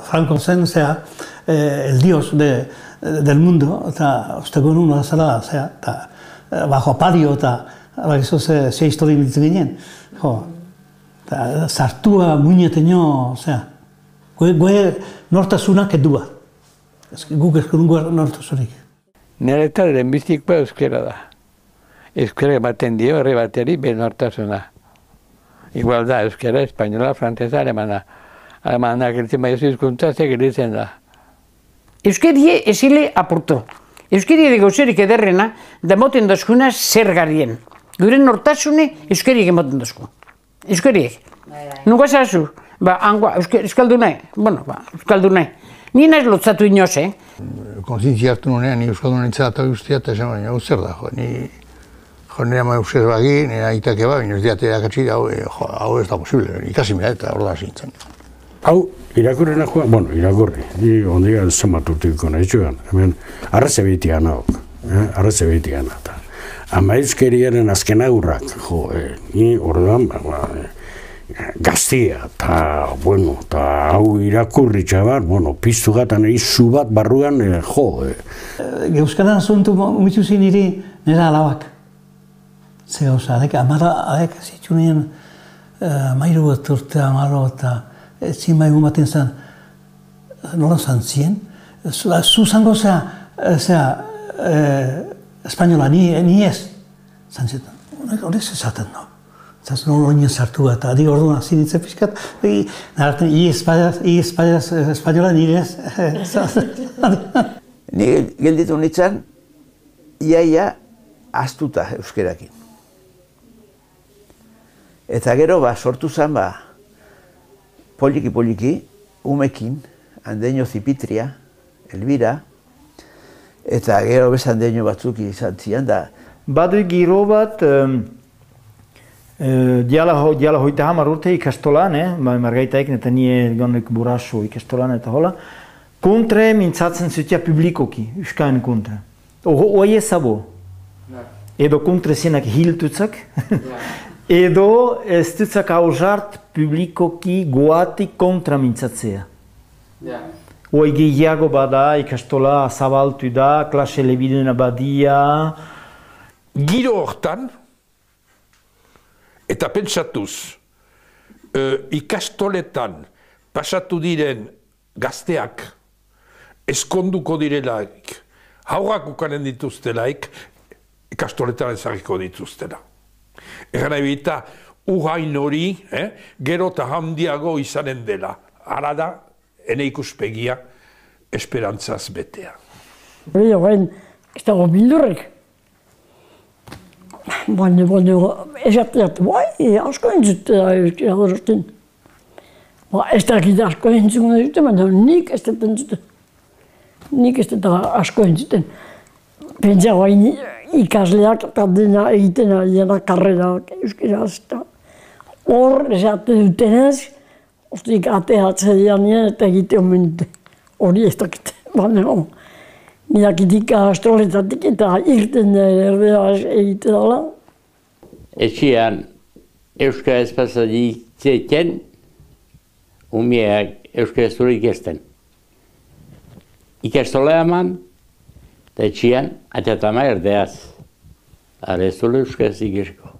Franco zen, el dios del mundo, eta ostegun una zela, eta bajo pario, eta bakizu ze histori biltzen ginen. Eta sartua muineteño, goe nortasunak edua. Guk eskurungo nortasunik. Niretzat lehenbizikoa euskera da. Euskera ematen dio herri bateri bere nortasuna. Igual da, euskera, espainola, frantzesa, alemana. Alemana geritzen baiozu hizkuntza, ze geritzen da. Euskerie esile apurtu. Euskeriari gauzerik ederrena, da moten dozkuna zer garien. Gure nortasune euskeriek emoten dozku. Euskeriek. Nuga zazu? Euskaldu nahi. Bueno, euskaldu nahi. Ni naiz lotzatu inoz, Kontzientzia hartu nunean, ni euskaldun nintzela eta guztia, eta esan baina, zer da, nire ama euskera bagi, nire aitak eba, baina ez diate erakatsi, hau ez da posible, ikasi mea eta hor da zintzen. Hau, irakurrena joan, bueno, irakurri, ni ondiga zamaturtiko nahi txugan, hemen, arraze behitik gana hok, arraze behitik gana, eta ama euskeriaren azken agurrak, ni orduan, gaztia, eta, bueno, eta hau irakurri txabar, bueno, piztu gatan izu bat barruan, Euskaran zuntu umituzin niri nera alabak. Ze gauza, adek zitsunien mairu bat urte amaro eta ezin bai gumaten zen, nola zantzien. Zu zango espainola, ni ez. Zantzetan, hori ez ezaten, no? Zaz nola oinen sartu eta adik orduan zinitzen pixkat, narraten, espainola nire ez. Ni gelditu nintzen, iaia ahaztuta euskerakin. Eta gero sortu zen poliki, umekin, handeño Zipitria, Elbira, eta gero bez handeño batzuk izan zian da. Badu giro bat, diala hoita hamar urte ikastolan, margaitaik, eta nire gonek buraso ikastolan eta hola, kontre mintzatzen zutia publikoki, euskain kontre. Oie zabo. Edo kontre zenak hiltutzak. Edo ez dutzak hausart publikoki goatik kontra mintzatzea. Oi gehiago bada, ikastola zabaltu da, klase lebiduna badia. Giro hortan, eta pentsatuz, ikastoletan pasatu diren gazteak eskonduko direlaik, haurrak ukanen dituztelaik, ikastoletan ezagiko dituztela. Egan nahi bita, uhain hori, gero eta handiago izanen dela. Hala da, ene ikuspegia, esperantzaz betea. Baina, ez dago bildurrek. Baina, esateat, asko entzutea euskera horretin. Ez dakit asko entzuten dute, baina nik ez dut entzuten. Nik ez dut asko entzuten. Pentsa guain ikasleak eta dena egiten ariena karrerak euskeraz. Hor, esate dutenez, ostik ateatzen dianean eta egite omen dute. Hori ez dakit, baina nidakitik astroletatik eta irten erderaz egite dala. Etxean euskara ez pasatzen, umeak euskara zure ikasten. Ikastola eman, eta etxean atatama erdeaz. Ara ez zure euskaraz ikasiko.